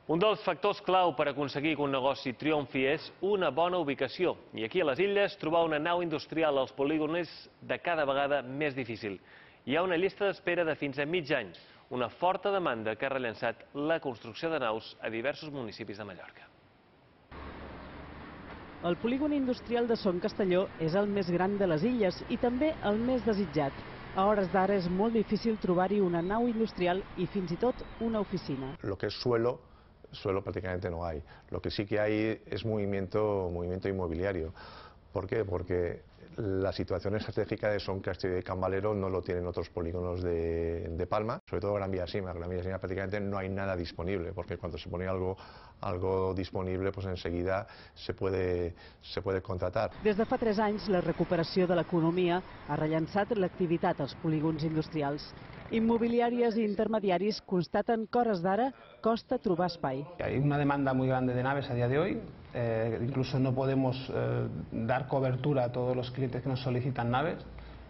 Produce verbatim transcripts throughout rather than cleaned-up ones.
Un dels factors clau per aconseguir que un negoci triomfi és una bona ubicació. I aquí a les Illes, trobar una nau industrial als polígons és de cada vegada més difícil. Hi ha una llista d'espera de fins a mig any, una forta demanda que ha rellançat la construcció de naus a diversos municipis de Mallorca. El polígon industrial de Son Castelló és el més gran de les Illes i també el més desitjat. A hores d'ara és molt difícil trobar-hi una nau industrial i fins i tot una oficina. Lo que es suelo, suelo prácticamente no hay. Lo que sí que hay es movimiento, movimiento inmobiliario. ¿Por qué? Porque la situación estratégica de Son Castelló y Can Valero no lo tienen otros polígonos de, de Palma, sobre todo Gran Vía-Sima. Gran Vía-Sima prácticamente no hay nada disponible, porque cuando se pone algo, algo disponible, pues enseguida se puede, se puede contratar. Des de fa tres anys, la recuperació de l'economia ha rellançat l'activitat als polígons industrials. Immobiliàries i intermediaris constaten que a hores d'ara costa trobar espai. Hay una demanda muy grande de naves a día de hoy, eh, incluso no podemos eh, dar cobertura a todos los clientes que nos solicitan naves,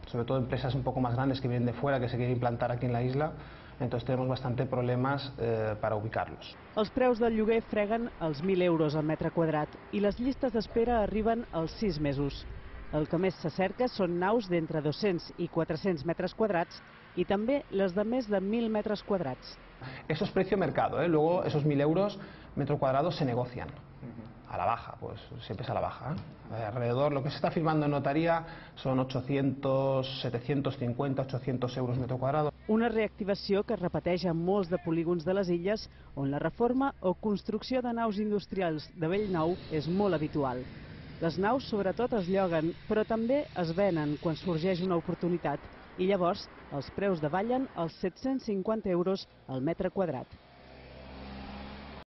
sobre todo empresas un poco más grandes que vienen de fuera, que se quieren implantar aquí en la isla, entonces tenemos bastante problemas eh, para ubicarlos. Els preus del lloguer freguen els mil euros al metre quadrat i les llistes d'espera arriben als sis mesos. El que més se cerca són naus d'entre dos-cents i quatre-cents metres quadrats y también las de més de mil metros cuadrados. Eso es precio mercado, ¿eh? Luego esos mil euros metro cuadrado se negocian a la baja, pues siempre es a la baja. ¿eh? Alrededor, lo que se está firmando en notaría son ochocientos, setecientos cincuenta, ochocientos euros metro cuadrado. Una reactivació que es repeteix en molts de polígons de les Illes on la reforma o construcció de naus industrials de bell nou és molt habitual. Les naus sobretot es lloguen, però també es venen quan sorgeix una oportunitat i llavors els preus davallen els set-cents cinquanta euros al metre quadrat.